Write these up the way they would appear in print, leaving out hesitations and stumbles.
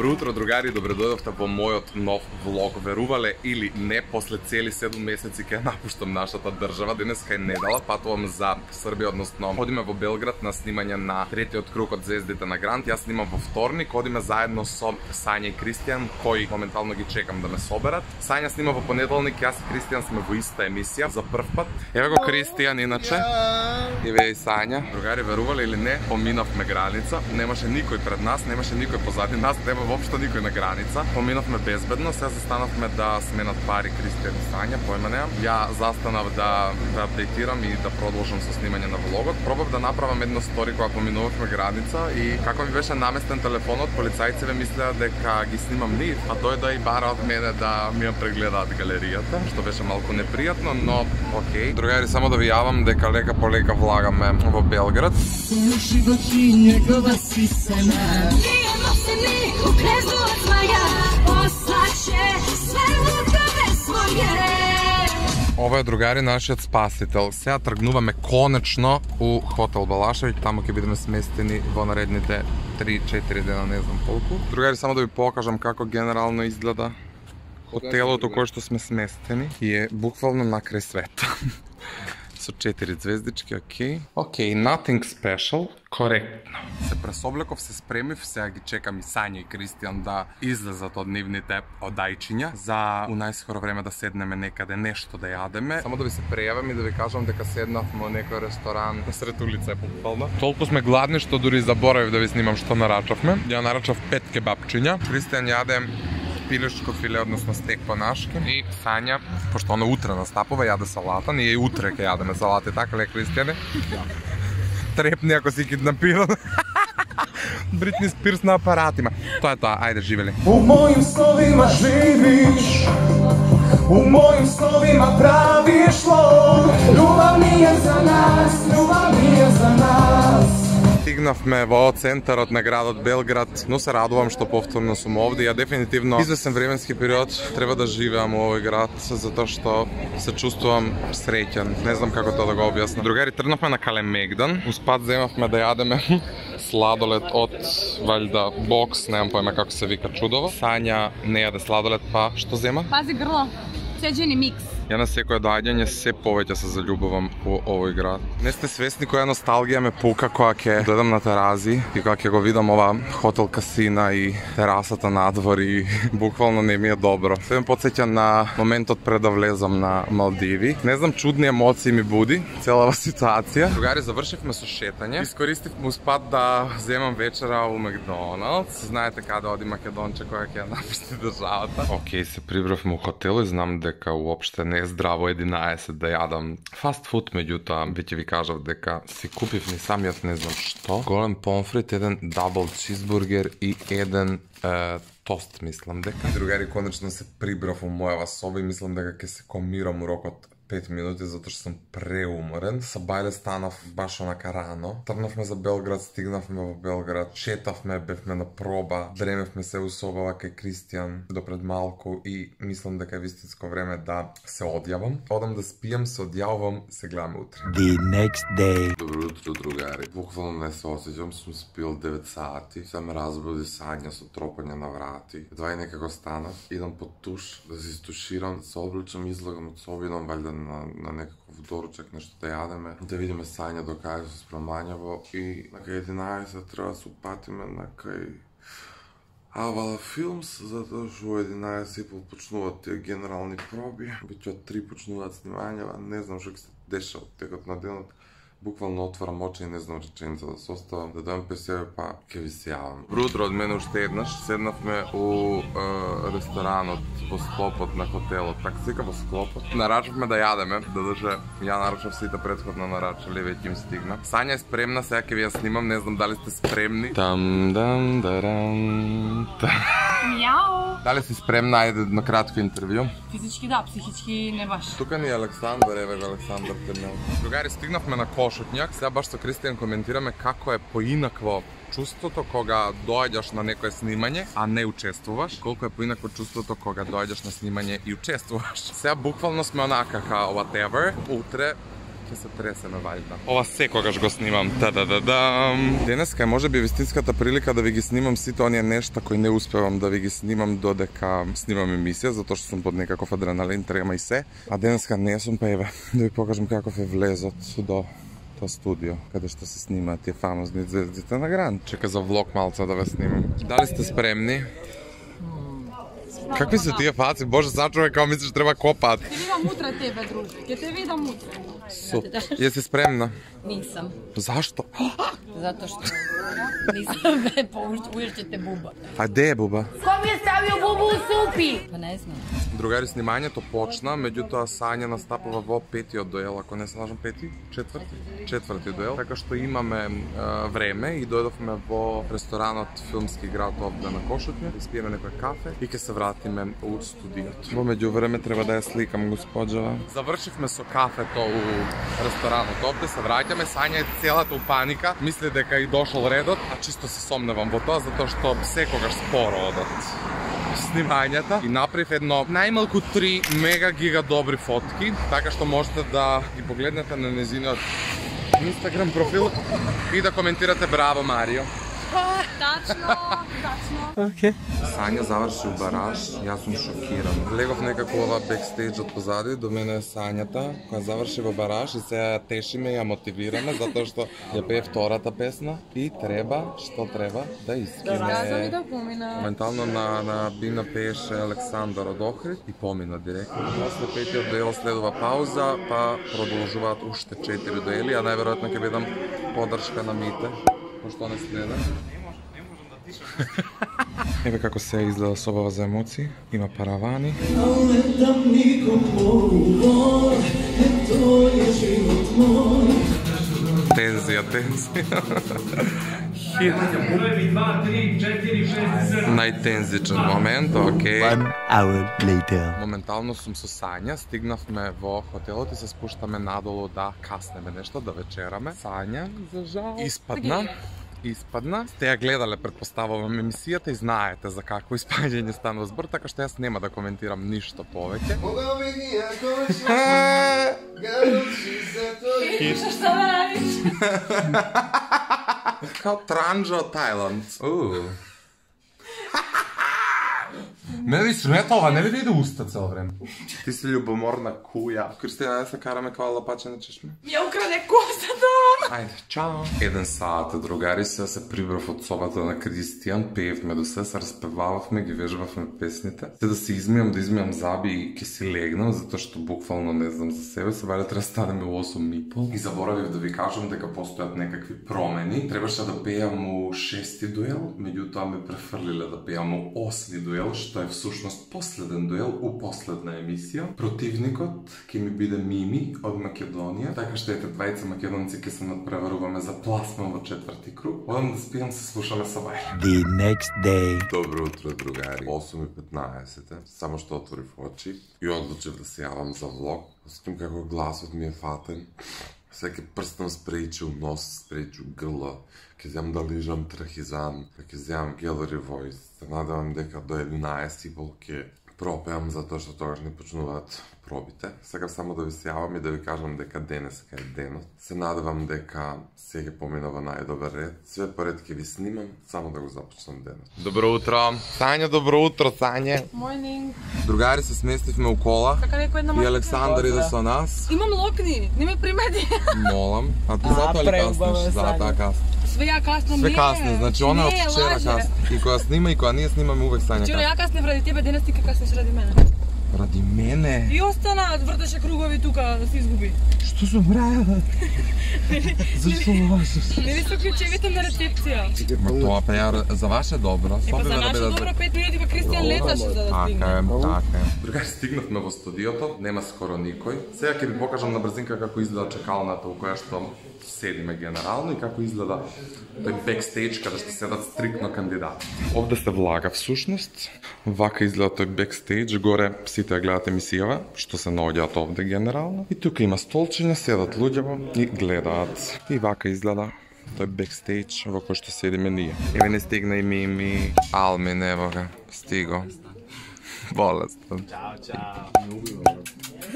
Добро утро, другари, добредојдовте во мојот нов влог. Верувале или не, после цели 7 месеци ќе напуштам нашата држава. Денеска е недела, патувам за Србија, односно одиме во Белград на снимање на третиот круг од Звездите на Грант. Јас снимам во вторник, одиме заедно со Сања и Кристијан, кои моментално ги чекам да ме соберат. Сања снима во понеделник, јас и Кристијан сме во иста емисија за прв пат. Еве го Кристијан иначе. Еве и Сања. Другари, верувале или не, поминавме граница. Немаше никој пред нас, немаше никој позади нас, нема воопшто никој на граница. Поминавме безбедно, сега застанавме да сменат пари Кристијан и Сања, појма немам. Ја застанав да апдейтирам и да продолжам со снимање на влогот. Пробав да направам едно стори кога поминувавме граница и како ми беше наместен телефонот, полицајците мислеа дека ги снимам нив, а дојде и бара од мене да ми ја прегледаат галеријата, што беше малку непријатно, но окей. Другари, само да ви јавам дека лека по лека влагаме во Белград. Ова е, другари, нашиот спасител. Сега тргнуваме конечно у хотел Балашевиќ, таму ќе бидеме сместени во наредните 3-4 дена, не знам колку. Другари, само да ви покажам како генерално изгледа хотелот у кој што сме сместени и е буквално накрај света. Со 4 звездички, окей. Окей, nothing special, коректно. Се пресоблеков, се спремив, сега ги чекам и Сања и Кристијан да излезат од нивните одајчиња за у најскоро време да седнеме некаде нешто да јадеме. Само да ви се прејавам и да ви кажам дека седнавме во некој ресторан насред улица, буквално. Толку сме гладни што дури заборавив да ви снимам што нарачавме. Ја нарачав 5 кебапчиња. Кристијан јаде пилешко филе, односно стек по-нашки. И Сања, пошто она утре настапува, јаде салата. Ние и утре ќе јадеме салати, така ле, Кристијане? Трепни ако си киднапиран. Бритни Спирс на апаратима. Тоа е тоа, ајде, живели. У мојим сновима живиш, у мојим сновима правиш лов. Љубав ми е за нас, љубав ми е за нас. Стигнавме во центарот на градот Белград, но се радувам што повторно сум овде. Ја дефинитивно извесен временски период треба да живеам во овој град, затоа што се чувствувам среќен. Не знам како тоа да го објаснам. Другари, тргнавме на Калемегдан. Успат земавме да јадеме сладолед од валјда бокс, немам појма како се вика чудово. Сања не јаде сладолед, па што зема? Пази грло. Цеđени микс. Ја на секој доаѓање се повеќе се заљубувам во овој град. Не сте свесни која носталгија ме пука кога ќе дојдам на Терази и кога ќе го видам ова хотел касина и терасата надвор и буквално не ми е добро. Се ме потсеќа на моментот пред да влезам на Малдиви. Не знам, чудни емоции ми буди целава ситуација. Другари, завршивме со шетање. Искористивме успат да земам вечера у Макдоналдс. Знаете каде оди Македонче која ќе ја напусти државата. Океј, се прибравме у хотел и знам дека уопште не е здраво 11 да јадам фаст фуд, меѓутоа веќе ви кажав дека си купив ни самиот не знам што. Голем помфрит, еден дабл чизбургер и еден тост, мислам дека. Другари, конечно се прибрав у мојава соба и мислам дека ќе се комирам у рокот 5 минути, затоа што сум преуморен. Са бајле станав баш онака рано. Тргнавме за Белград, стигнавме во Белград, шетавме, бевме на проба, дремевме се у собава кај Кристијан до пред малку и мислам дека е вистинско време да се одјавам. Одам да спијам, се одјавам, се гледаме утре. The next day. Добро утро, другари. Буквално не се осеќам, сум спил 9 сати. Се ме разбуди Сања со тропање на врати. Едва и некако станав, идам под туш да се истуширам, се обличам, излагам од соба, идам валјда на некаков доручак, нешто да јадеме, да видиме Сања до кај се спремањаво и на кај 11 треба да се упатиме на кај Авала Филмс, затоа што у 11:30 почнуваат тие генерални проби, веќе од 3 почнуваат снимањава, не знам што ќе се деша од текот на денот. Буквално отварам очи и не знам реченица да се оставам, да дојам пе себе, па ќе ви се јавам. Добро утро од мене уште еднаш. Седнавме у ресторанот во склопот на хотелот, така се вика во склопот. Нарачавме да јадеме, додека ја нарачав сите претходно нарачале, веќе им стигна. Сања е спремна, сега ќе ви ја снимам, не знам дали сте спремни. Мјау. Дали си спремна? Ајде на кратко интервју. Физички да, психички не баш. Тука ни е Александар, еве го Александар Темел. Другари, стигнавме на Кошутњак, сега баш со Кристијан коментираме како е поинакво чувството кога доаѓаш на некое снимање, а не учествуваш, колку е поинакво чувството кога доаѓаш на снимање и учествуваш. Сега буквално сме онака као whatever, утре Ке се тресеме вајда. Ова секогаш го снимам. Та-да-да-дам. Денеска е можеби вистинската прилика да ви ги снимам сите оние нешта кои не успевам да ви ги снимам додека снимам емисија, затоа што сум под некаков адреналин, трема и се. А денеска не сум, па еве, да ви покажам каков е влезот до тоа студио, каде што се снимаат тие фамозни звездите на Гранд. Чека за влог малца да ве снимам. Дали сте спремни? Какви се тие фаци? Боже, сачуваме како мислиш треба копаат. Ќе видам утре тебе, друже. Ќе те видам утре. Јеси спремна? Нисам. Зашто? Затоа што нисам бе уште буба. А де е буба? Кој ми е ставио бубу у супи? Па не знам. Другари, снимањето почна, меѓутоа Сања настапува во петиот дуел, ако не се лажам пети, четврти дуел, така што имаме време и дојдовме во ресторанот Филмски град овде на Кошутње, испиеме некој кафе и ќе се вратиме у студиот. Во меѓувреме треба да ја сликам госпоđава. Завршивме со кафето у ресторанот овде, се враќаме, Сања е целата у паника, мисли дека и дошол редот, а чисто се сомневам во тоа затоа што секогаш споро одат снимањата и направив едно најмалку 3 мега гига добри фотки, така што можете да ги погледнете на незиниот Инстаграм профил и да коментирате браво Марио. Тачно. Океј. Сања заврши у бараж, јас сум шокиран. Влегов некако ова бекстејдж од позади, до мене е Сањата, која заврши во бараж и сега тешиме и ја мотивираме, затоа што ја пее втората песна и треба, што треба, да искине. Да помина. Моментално на бина пееше Александар од Охрид и помина директно. После петиот дуел следува пауза, па продолжуваат уште 4 дуели, а најверојатно ќе бидам подршка на Мите, пошто не следа. Еве како се изгледа собава за емоции, има паравани. Тензија. Најтензичен момент, окей. 1 hour later. Моментално сум со Сања, стигнавме во хотелот и се спуштаме надолу да каснеме нешто, да вечераме. Сања, за жал, испадна. Сте ја гледале, предпоставувам, емисијата и знаете за какво испаѓање станува збор, така што јас нема да коментирам ништо повеќе. Што да радиш? Као транџа од Тајланд. Не ви сметова, не ви да иде уста цел време. Ти си љубоморна куја. Кристина, да се караме као лапаче на чешме? Ја украде косата. Ајде, чао. 1 саат, другари, се прибрав од собата на Кристијан, пеевме до се распевававме, ги вежбавме песните. Се да се измијам заби и ке си легнам, затоа што буквално не знам за себе, се валя треба станеме у 8:30. И заборавив да ви кажам дека постојат некакви промени. Требаше да пеам у 6-ти дуел, меѓутоа ме префрлиле да пеам у 8-ти дуел, што е всушност последен дуел у последна емисија. Противникот ќе ми биде Мими од Македонија, така што ете двајца македонци ќе се надпреваруваме за пласман во 4-ти круг. Одам да спијам, се слушаме со Вајле. The next day. Добро утро, другари. 8:15, само што отворив очи и одлучив да се јавам за влог. Осетим како гласот ми е фатен. Секи прстам спрејчил нос, спрејчил грла. Ке зјам да лижам трахизан, ке зјам Gallery Voice. Се надевам дека до 11:30 ке пропеам, затоа што тогаш не почнуваат пробите. Сакам само да ви се јавам и да ви кажам дека денеска е денот. Се надевам дека се ќе помина во најдобар ред. Све поред ќе ви снимам, само да го започнам денот. Добро утро. Сања, добро утро, Сање. Morning. Другари, се сместивме у кола. Така некој една И Александар иде со нас. Имам локни, не ме примети. Молам. А ти затоа ли каснеш? За таа касна. Све ја каснам, Све не. касне, значи она од Не, вчера лаже. касне. И кога снима и кога ние снимаме увек Сања Вчера касне. ја каснев ради тебе, денес ти ка каснеш ради мене. Ради мене? И остана, вртеше кругови тука, да се изгуби. Што сум правила? Зашто лажеш? Не ви се ключевите на рецепција. Ма тоа па ја за ваше добро. Па за наше добро 5 минути па Кристијан леташе за да стигне. Така е. Другари, стигнавме во студиото, нема скоро никој. Сега ќе ви покажам на брзинка како изгледа чекалната у која што седиме генерално и како изгледа тој бекстејдж каде што седат стрикно кандидати. Овде се влага всушност. Вака изгледа тој бекстејдж, горе сите ја гледат емисијава, што се наоѓаат овде генерално. И тука има столчиња, седат луѓе и гледаат. И вака изгледа тој бекстејдж во кој што седиме ние. Еве не стигна и Мими, Алмин, ево га, стиго. Болестен. Чао, чао.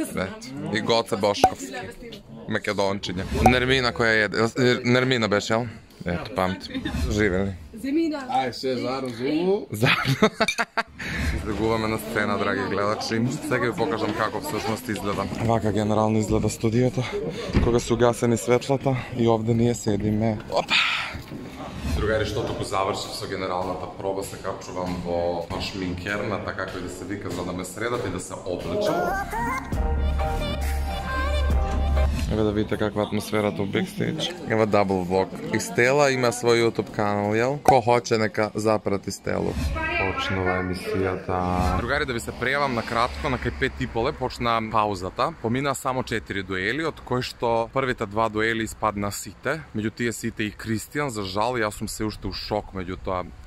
И Гоце Бошковски. Македончиња. Нермина која еде. Нермина беше, јел? Ето, памти. Живе ли? Земина. Ај, се зарозу. Излегуваме на сцена, драги гледачи. Сега ви покажам како всушност изгледа. Вака генерално изгледа студиото, кога се угасени светлата и овде ние седиме. Опа! Другари, што току завршив со генералната проба, се капчувам во шминкерната, како и да се вика, за да ме средат и да се облечам. Еве да видите каква атмосферата у бекстейдж. Ева дабл влог. И Стела има свој YouTube канал, јел? Ко хоче нека запрати Стелу. Почнува емисијата. Другари, да ви се прејавам на кратко, на кај 5:30 почна паузата. Помина само 4 дуели, од кои што првите 2 дуели испадна сите. Меѓу тие сите и Кристијан, за жал, јас сум се уште у шок меѓу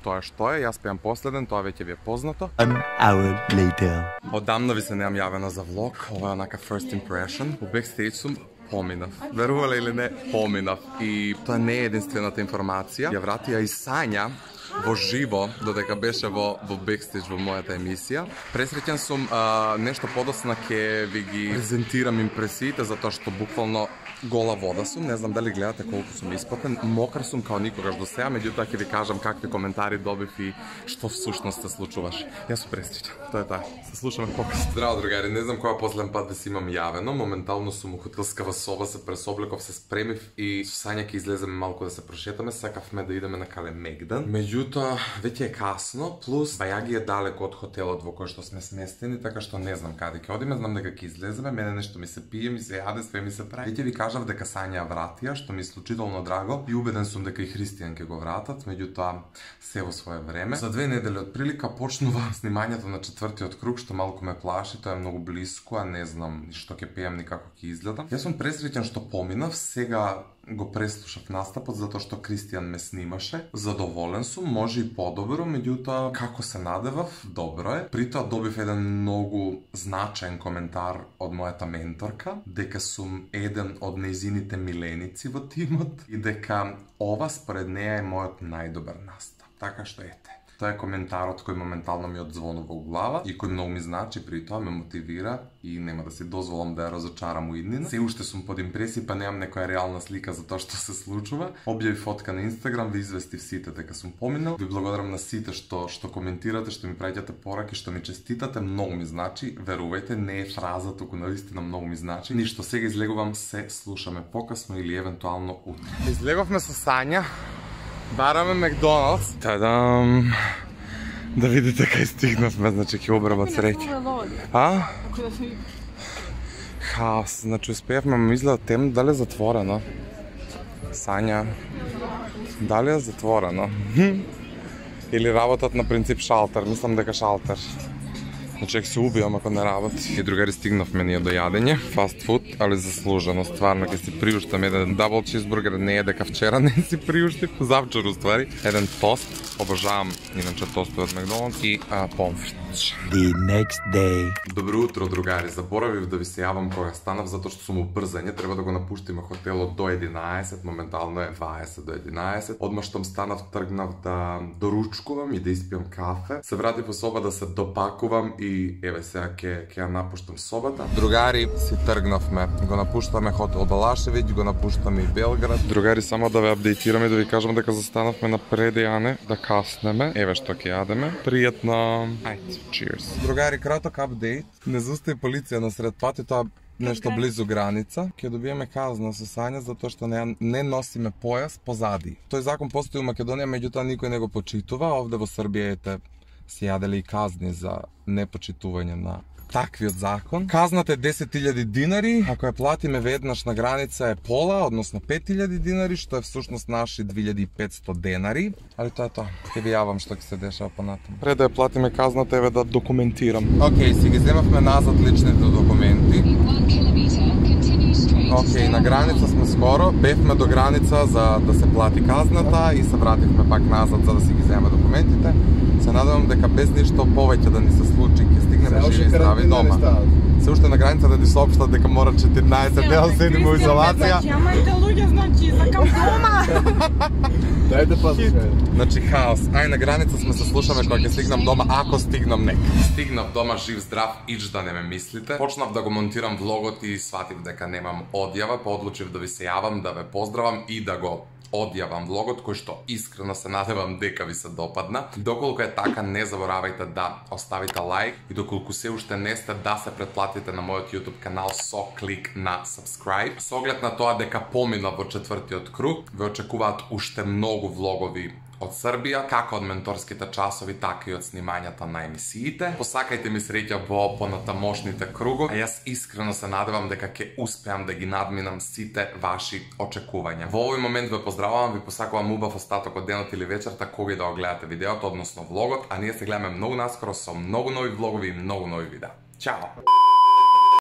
тоа што е. Јас пеам последен, тоа веќе ви е познато. An hour later. Одамна ви се неам јавена за влог, ова е онака first impression. У бекстейдж сум поминав. Верувале или не, поминав. И тоа не е единствената информација. Ја вратија и Сања во живо, додека беше во бекстейдж во мојата емисија. Пресреќен сум, нешто подосна ќе ви ги презентирам импресиите, затоа што буквално гола вода сум, не знам дали гледате колку сум испатен, мокар сум као никогаш до сега, меѓутоа ќе ви кажам какви коментари добив и што всушност се случуваше. Јас сум пресреќен. Тоа е таа. Се слушаме покасно. Здраво, другари, не знам која последен пат да си имам јавено. Моментално сум у хотелскава соба, се пресоблеков, се спремив и со Сања ќе излеземе малку да се прошетаме, сакавме да идеме на Калемегдан. Меѓутоа, веќе е касно, плюс Бајаги е далеко од хотелот во кој што сме сместени, така што не знам каде ќе одиме, знам дека ќе излеземе, мене нешто ми се пие, ми се јаде, све ми се прави. Веќе ви кажав дека Сања вратија, што ми е исклучително драго и убеден сум дека и Христијан ќе го вратат, меѓутоа се во свое време. За 2 недели од прилика почнува снимањето на 4-тиот круг, што малку ме плаши, тоа е многу блиско, а не знам ни што ќе пеам ни како ќе изгледам. Јас сум пресреќен што поминав, сега го преслушав настапот затоа што Кристијан ме снимаше. Задоволен сум, може и подобро, меѓутоа како се надевав, добро е. При тоа добив еден многу значаен коментар од мојата менторка, дека сум еден од нејзините миленици во тимот и дека ова според неја е мојот најдобар настап. Така што ете. Тоа е коментарот кој моментално ми одзвонува у глава и кој многу ми значи, при тоа ме мотивира и нема да си дозволам да ја разочарам у иднина. Се уште сум под импресија, па немам некоја реална слика за тоа што се случува. Објави фотка на Инстаграм, ви известив сите дека сум поминал. Ви благодарам на сите што коментирате, што ми праќате пораки, што ми честитате, многу ми значи. Верувајте, не е фраза, туку наистина многу ми значи. Ништо, сега излегувам, се слушаме покасно или евентуално утре. Излеговме со Сања. Бараме Макдоналдс. Тадам! Да видите кај стигнавме, значи ќе обрабат среќа. А? Хаос, значи успеавме, ме изгледа темно, дали е затворено? Сања, дали е затворено? Или работат на принцип шалтер, мислам дека шалтер. Значи ќе се убијам ако не работи. И другари, стигнавме ние до јадење, фаст фуд, али заслужено, стварно ќе си приуштам еден дабл чизбургер, не е дека вчера не си приуштив, завчер уствари, еден тост, обожавам иначе тостове од Макдоналдс и помфрит. The next day. Добро утро, другари. Заборавив да ви се јавам кога станав затоа што сум убрзање, треба да го напуштиме хотелот до 11, моментално е 20 до 11. Одма штом станав, тргнав да доручкувам и да испијам кафе. Се вратив во соба да се допакувам и еве сега ќе ја напуштам собата. Другари, си тргнавме. Го напуштаме хотел Балашевиќ, го напуштаме и Белград. Другари, само да ве апдейтирам и да ви кажам дека застанавме на предејане, да каснеме. Еве што ќе јадеме. Пријатно. Ајде. Cheers. Другари, краток апдейт. Не заустави полиција на сред пат и тоа нешто близу граница. Ќе добиеме казна со Сања затоа што не носиме појас позади. Тој закон постои у Македонија, меѓутоа никој не го почитува. Овде во Србија се јаделе и казни за непочитување на таквиот закон. Казната е 10.000 динари, ако ја платиме веднаш на граница е пола, односно 5.000 динари, што е всушност наши 2.500 денари. Али тоа е тоа. Ќе ви јавам што ќе се дешава понатаму. Пред да ја платиме казната, еве да документирам. Океј, си ги земавме назад личните документи. Океј, на граница сме скоро. Бевме до граница за да се плати казната и се вративме пак назад за да си ги земеме документите. Се надевам дека без ништо повеќе да ни се случи, ќе стигнеме живи и здрави дома. Се уште на граница да ни соопштат дека мора 14 дена седиме во изолација. Ама и луѓе, значи, закам дома. Дајте послушај. Значи хаос. Ај на граница сме се слушаме кога ќе стигнам дома, ако стигнам нека. Стигнав дома жив здрав, ич да не ме мислите. Почнав да го монтирам влогот и сватив дека немам одјава, па одлучив да ви се јавам, да ве поздравам и да го одјавам влогот, кој што искрено се надевам дека ви се допадна. Доколку е така, не заборавајте да оставите лайк и доколку се уште не сте, да се претплатите на мојот YouTube канал со клик на subscribe. Со оглед на тоа дека помина во четвртиот круг, ве очекуваат уште многу влогови од Србија, како од менторските часови, така и од снимањата на емисиите. Посакајте ми среќа во понатамошните кругови, а јас искрено се надевам дека ќе успеам да ги надминам сите ваши очекувања. Во овој момент ве поздравувам, ви посакувам убав остаток од денот или вечерта кога и да го гледате видеото, односно влогот, а ние се гледаме многу наскоро со многу нови влогови и многу нови видеа. Чао!